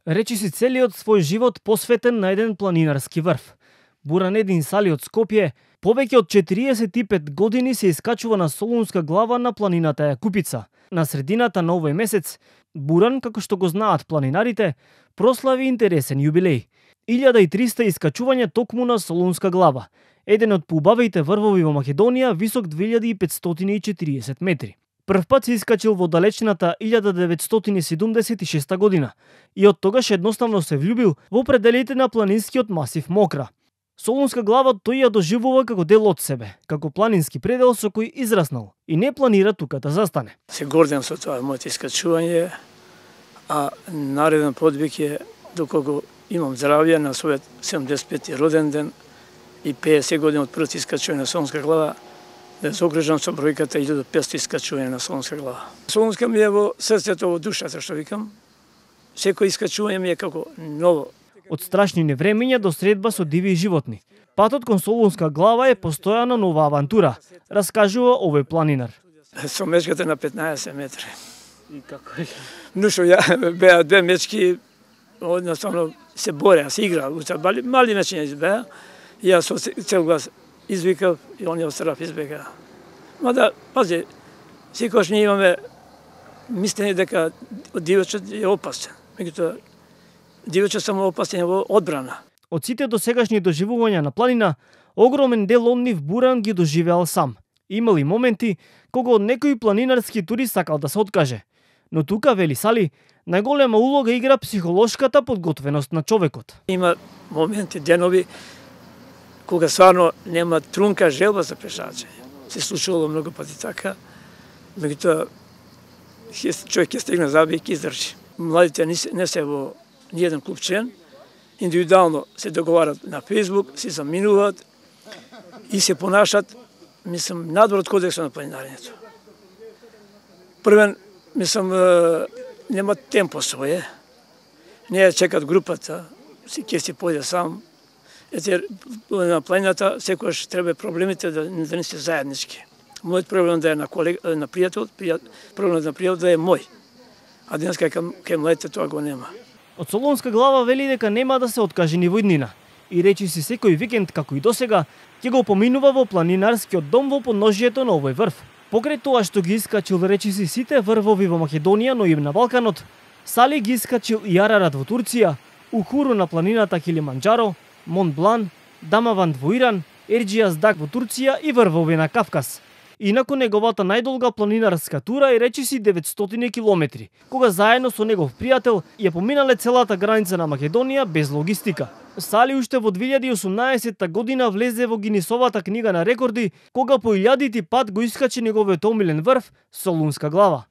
Речиси целиот свој живот посветен на еден планинарски врв. Буранедин Сали од Скопје повеќе од 45 години се искачува на Солунска глава на планината Јакупица. На средината на овој месец, Буран, како што го знаат планинарите, прослави интересен јубилеј. 1300 искачувања токму на Солунска глава, еден од поубавите врвови во Македонија, висок 2540 метри. Прв пат се искачил во далечната 1976 година и од тогаш едноставно се влюбил во пределите на планинскиот масив Мокра. Солунска глава тој ја доживува како дел од себе, како планински предел со кој израснал и не планира тука да застане. Се гордам со тоа моето искачување, а нареден подвиг е доколку имам здравје на својот 75-ти роден ден и 50 години од првото искачување на Солунска глава, да се окружам со бројката 1500 искачување на Солунска глава. Солунска ми е во срцето, во душата, што викам. Секој искачување ми е како ново. Од страшни невремиња до средба со диви животни. Патот кон Солунска глава е постојана нова авантура, раскажува овој планинар. Со мечката на 15 метри. И како? Но што ја беа две мечки, односно се бореа, се играа, мали мечиња беа. Ја со цел глас извикав и оние од страх избегаа. Мада, пази, секогаш ние имаме мислење дека дивечот е опасен. Меѓутоа, дивечот само опасен во одбрана. Од сите досегашни доживувања на планина, огромен дел од нив Буран ги доживеал сам. Имал и моменти кога од некој планинарски турист сакал да се откаже. Но тука, вели Сали, најголема улога игра психолошката подготвеност на човекот. Има моменти, денови, кога стварно нема трунка желба за пешачење. Се случувало многу пати така, меѓутоа човек ќе стигне заби и ќе издржи. Младите не се во ниеден клуб член, индивидуално се договарат на Фејсбук, се заминуваат и се понашат, мислам, надвор од кодексот на планинарењето. Првен, мислам, нема темпо своје, не ја чекат групата, ќе си појде сам. Ете, на планината секогаш треба проблемите да не се заеднички. Мојот проблем да е на пријател, проблемот на пријател да е мој. А денеска кај младите тоа го нема. Од Солунска глава вели дека нема да се откаже ни во иднина и речиси секој викенд како и досега ќе го поминува во планинарскиот дом во подножјето на овој врв. Покрај тоа што ги искачил речиси сите врвови во Македонија, но и на Балканот, Сали ги искачил и Арарат во Турција, Ухуру на планината Килиманџаро, Монт Блан, Дамаванд во Иран, Ерџијас Даг во Турција и врвови на Кавказ. Инаку неговата најдолга планинарска тура е речиси 900 километри, кога заедно со негов пријател ја поминале целата граница на Македонија без логистика. Сали уште во 2018 година влезе во Гинисовата книга на рекорди, кога по илјадити пат го искачи неговиот омилен врв Солунска глава.